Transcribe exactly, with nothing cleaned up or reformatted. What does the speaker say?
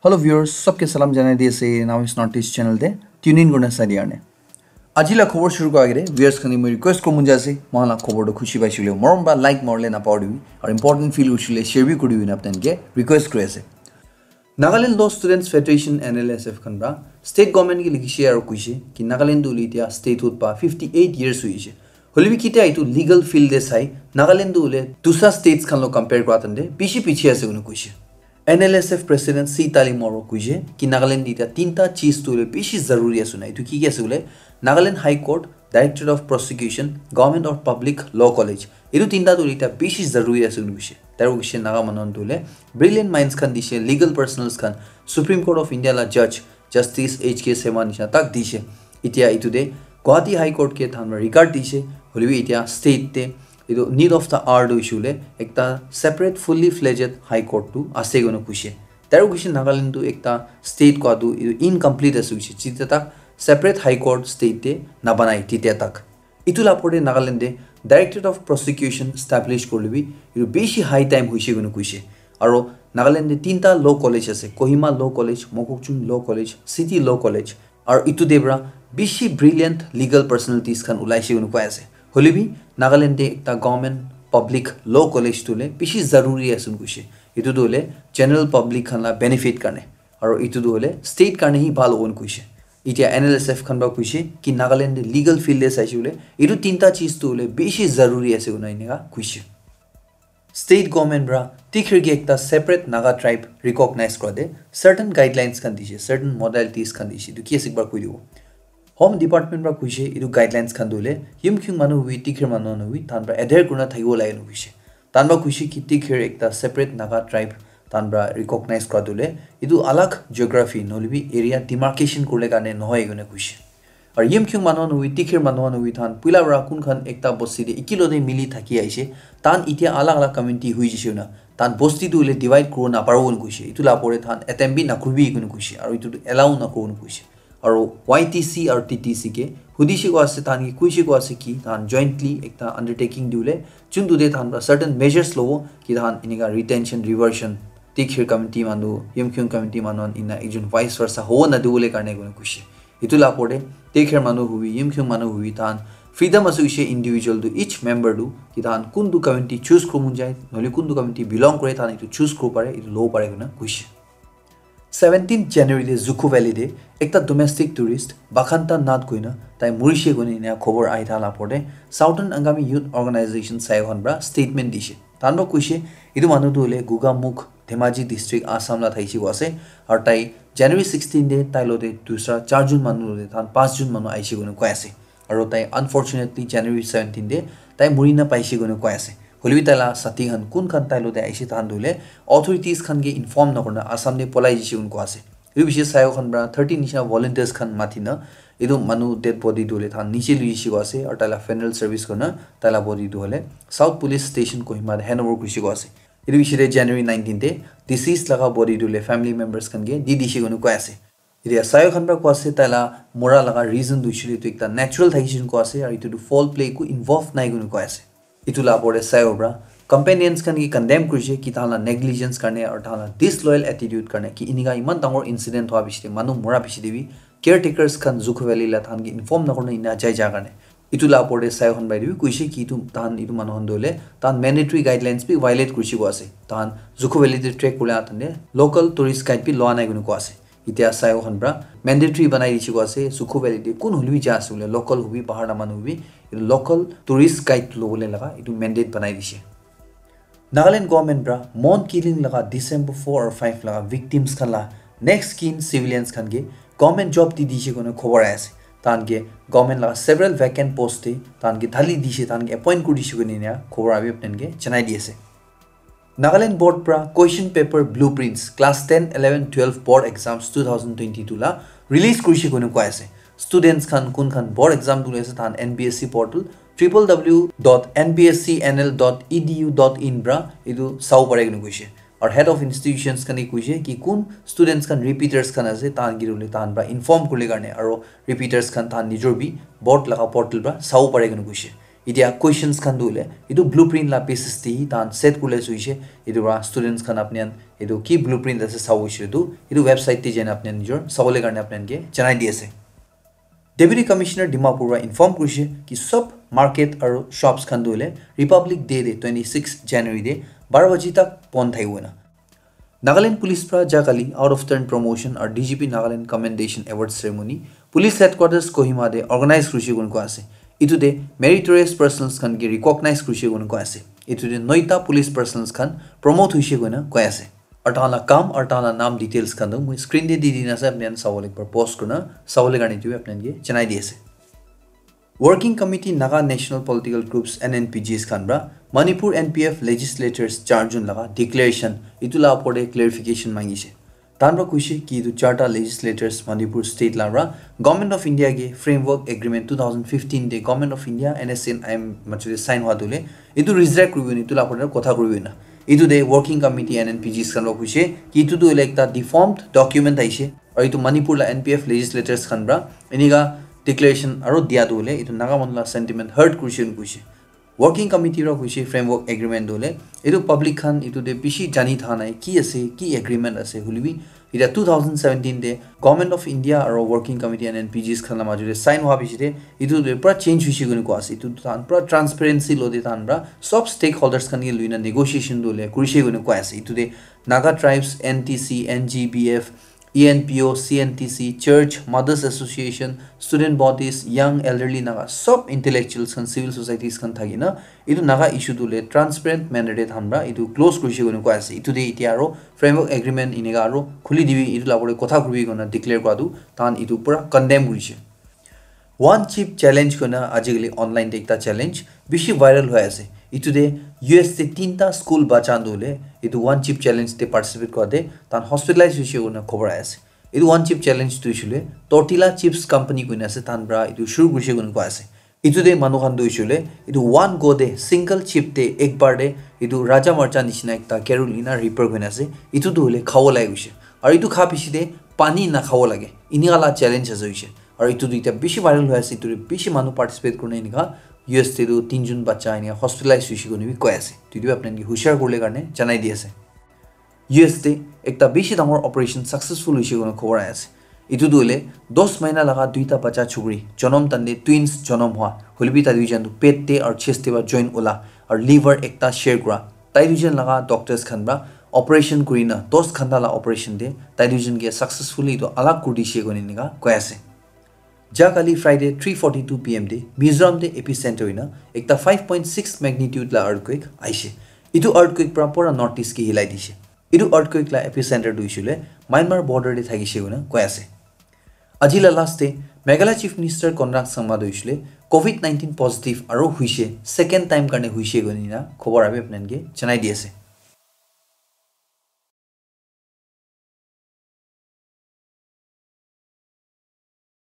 Hello viewers, sabke salam janai di ase Now is Northeast channel te tune in kurna sai di karne. Aji la khobor shuru kora agete viewers khan ke moi request koribo mon jai ase, moikhan la khobor toh khushi paise koile morom para like marile napahoribi, aru important feel kurise koile share bi koribi koina apni khan ke request kuri ase. Nagaland Law Students Federation, N L S F, khan para state government ke likhishe aru koishe ki Nagaland toh hoile etia statehood pa fifty eight years hoishe. Hoilebi kitia etu legal field te sai Nagaland toh hoile dusra states khan lo compare kora time te bishi piche ase koina koishe. N L S F President C Tali Moro koishe ki Nagaland te etia tinta cheez toh hoile bishi zaruri ase na. Etu ki ki ase koile Nagaland High Court, Directorate of Prosecution, Government of Public Law College. Etu tinta toh hoile etia bishi zaruri ase koina koishe. Taro koishe Naga manu khan toh hoile brilliant minds khan dishe, legal personnels khan, Supreme Court of India la judge, Justice H K Sema nishina tak dishe. Etia etu te Guwahati High Court ke than regard dishe, hoilebi etia state te etu need of the hour tu issue le ekta separate fully fledged high court tu ase koina koishe. Taro koishe Nagaland tu ekta state kua tu etu incomplete ase koishe. Jite tak separate high court state te nabanai tite tak. Etu la opor te Nagaland te Directorate of Prosecution establish korilebi etu bishi high time hoishe koina koishe. Aro Nagaland te tinta law college ase, Kohima Law College, Mokokchung Law College, City Law College. Aro etu te para bishi brilliant legal personalities khan ulaishe koina koi ase. Hoilebi Nagaland te ekta government public law college toh hoile bishi zaruri ase koina koishe. Etu toh hoile general public khan la benefit karne. Aro etu toh hoile state karne hi bhal hobo koishe. Etia N L S F khan para koishe ki Nagaland te legal field te saishe koile etu tinta cheez toh hoile bishi zaruri ase koina enika koishe. State government para Tikhir ke ekta separate Naga tribe recognize kora te certain guidelines khan dishe, certain modalities khan dishe. Etu ki ase ekbar koi dibo. Home Department para koishe etu guidelines khan toh hoile Yimkhiung manu hobi, Tikhir manu hobi, than para adhere kurina thakibo lage koishe. Than para koishe ki Tikhir ekta separate Naga tribe than para recognize kora toh hoile etu alag geography nohoilebi area demarcation kurile karne nohoi koina koishe. Aru Yimkhiung manu khan hobi, Tikhir manu khan hobi, than puila para kun khan ekta bosti te ekelog te mili thaki aishe, than etia alag alag community hoi jaishe koina, than bosti tu hoile divide kuribo naparibo koina koishe. Etu la opor te than attempt bi nakuribi koina koishe, aru etu tu allow nakuribo koina koishe. Aru Y T C aru T T C ke hudishe koa ase, than ke koishe koa ase ki than jointly ekta undertaking diwole, juntu te than para certain measures lobo ki than enika retention, reversion, Tikhir community manu, Yimkhiung community manu khan ena ekjon vice versa hobo nadibole karne koina koishe. Etu la opor te Tikhir manu hobi, Yimkhiung manu hobi, than freedom ase koishe individual tu, each member tu ki than kuntu community choose kuribo mon jai, nohole kuntu community belong kore, than etu choose kuribo pare, etu lobo pare koina koishe. Seventeenth January te Zuko Valley te ekta domestic tourist Bakhanta Nath koina tai murishe koina ena khobor ahi thala opor te Southern Angami Youth Organization sayo khan para statement dishe. Than para koishe etu manu tu hoile Gogamukh, Dhemaji District, Assam la thakishi koa ase. Aru tai January sixteen te tai logote dusra charjon manu logote than panchjon manu aishe koina koi ase. Aru tai unfortunately January seventeen te tai murina paishe koina koi ase. Hoilebi tai la sathi khan kun khan tai logote aishe than tu hoile authorities khan ke inform nakurina Assam te polai jaishe koina koi ase. Etu bishi sayo khan para thirty nishina volunteers khan matina etu manu dead body tu hoile than niche lui jaishe koa ase, aru tai la funeral service kurina tai la body tu hoile South Police Station Kohima te handover kurishe koa ase. Etu bishi te January nineteen te deceased laga body tu hoile family members khan ke di dishe koina koi ase. Etia sayo khan para koi ase tai la mura laga reason tu hoishe koile etu ekta natural thakishe koina koi ase, aru etu tu foul play eku involve nai koina koi ase. Etu la opor te sayo para companions khan ke condemn kurishe ki than la negligence karne aru than la disloyal attitude karne ki enika eman dangor incident hoa bishi te manu mura bishi te bi caretakers khan Zuko Valley la than ke inform nakurina ena jai ja karne. Etu la opor te sayo khan para etu bi koishe ki etu than etu manu khan tu hoile than mandatory guidelines bi violate kurishe koa ase. Than Zuko Valley te trek kurila than te local tourist guide bi loa nai koina koi ase. Etia sayo khan para mandatory banai dishe koa ase, Zuko Valley te kun hoilebi ja ase koile, local hobi, bahar la manu hobi, etu local tourist guide lobole laga etu mandate banai dishe. Nagaland government para Mon killing laga December four or five laga victims khan la next kin civilians khan ke government job di dishe koina khobor ahi ase. Than ke government laga several vacant post te than ke thali dishe, than ke appoint kuri dishe koina ena khobor abi apni khan ke janai di ase. Nagaland Board para question paper blueprints class ten, eleven, twelve board exams two thousand twenty-two la release kurishe koina koi ase. Students khan kun khan board exam dule ase than N B S C portal triple W dot N B S C N L dot E D U dot in para etu sabo pare koina koishe. Aru head of institutions khan ke koishe ki kun students khan repeaters khan ase than ke hoile than para inform kurile karne aru repeaters khan than nijor bi board laga portal para sabo pare koina koishe. Etia questions khan tu hoile etu blueprint la basis te hi tahan set kuri le hoishe. Etu para students khan apni khan etu ki blueprint ase sabo hoishe tu etu website te jaina apni khan nijor sabole karne apni khan ke janai di ase. Deputy Commissioner Dimapur para inform kurishe ki sob market aru shops khan tu hoile Republic Day te twenty six January te baro baji tak bon thakibo na. Nagaland Police pra jagale out of turn promotion aru D G P Nagaland Commendation Award Ceremony Police Headquarters Kohima te organize kurishe koina koa ase. Etu te meritorious persons khan ke recognize kurishe koina koa ase. Etu te noita police persons khan promote hoishe koina koi ase. Aru tahan la kam aru tahan la naam details khan tu moi screen te di dina ase, apni khan sabole ekbar pause kurina sabole karne etu apni khan ke janai di ase. Working Committee Naga National Political Groups, N N P Gs khan pra Manipur N P F legislators charjun laga declaration etu la opor te clarification mangise. Tahan pra kuishe ki etu charta legislators Manipur state la pra Government of India ke Framework Agreement two thousand fifteen te Government of India, N S C N I M machu te sign hua tu le etu reject kuribo ni etu la opor te kotha kuribo na. Etu te Working Committee N N P Gs khan pra kuishe ki etu tu hoile ekta deformed document aishe. Aru etu Manipur la N P F legislators khan pra enika declaration aru dia tu hoile etu Naga manu la sentiment hurt kurishe koina kuishe. Working Committee pra kuishe Framework Agreement tu hoile etu public khan etu te bishi jani tha nai ki ase, ki agreement ase hoile bi etia two thousand seventeen te Government of India aru Working Committee N N P Gs khan la majo te sign hua bishi te etu te pura change hoishe koina koa ase. Etu tahan pura transparency lo te tahan pra sob stakeholders khan ke luina negotiation tu hoile kurishe koina koa ase. Etu te Naga Tribes, N T C, N G B F, E N P O, C N T C, church, mothers association, student bodies, young, elderly Naga, sob intellectuals khan, civil societies khan thaki na etu Naga issue tu le transparent manner te tahan pra etu close kurishe koina koa ase. Etu te etia aru framework agreement enika aru khuli dibi etu la opor te kotha kuribi koina declare kura tu tahan etu pura condemn kurishe. One chip challenge koina ajikali online te ekta challenge bishi viral hoi ase. Etu te U S te tinta school bacha tu hoile etu one chip challenge te participate kura te tahan hospitalize hoishe koina khobor ahi ase. Etu one chip challenge tu hoishe le Tortilla Chips Company koina ase, tahan pra etu shuru kurishe koina koa ase. Etu te manu khan tu hoishe le etu one go te single chip te ek bar te etu raja marcha nishina ekta carol ena repair koina ase. Etu tu hoile khabo lage hoishe. Aru etu kha bishi te pani na khabo lage. Enika la challenge ase hoishe. Aru etu duita bishi viral hoi ase, etu te bishi manu participate kurina enika U S te tu tinjun bacha enika hospitalize hoishe koina bi koi ase. Etu tu apni khan ke hushar kuribole karne janai di ase. U S te ekta bishi dangor operation successful hoishe koina khobor ahi ase. Etu tu hoile dos mahina laga duita bacha chukri jonom tande twins jonom hua, hoile bi tai duijan tu pet te aru chest te ba join ula aru liver ekta share kura. Tai duijan laga doctors khan pra operation kurina dos ghanta la operation te tai duijan ke successfully etu alag kuri dishe koina enika koi ase. Ja kali Friday three forty-two P M te Mizoram te epicenter hoina ekta five point six magnitude la earthquake aishe. Etu earthquake pra pura North East ke hilai dishe. Etu earthquake la epicenter tu hoishe le Myanmar border te thakishe koina koi ase. Aji la last te Meghalaya Chief Minister Conrad Sangma tu hoishe le covid nineteen positive aru hoishe, second time karne hoishe koina khobor abi apni khan ke janai di ase.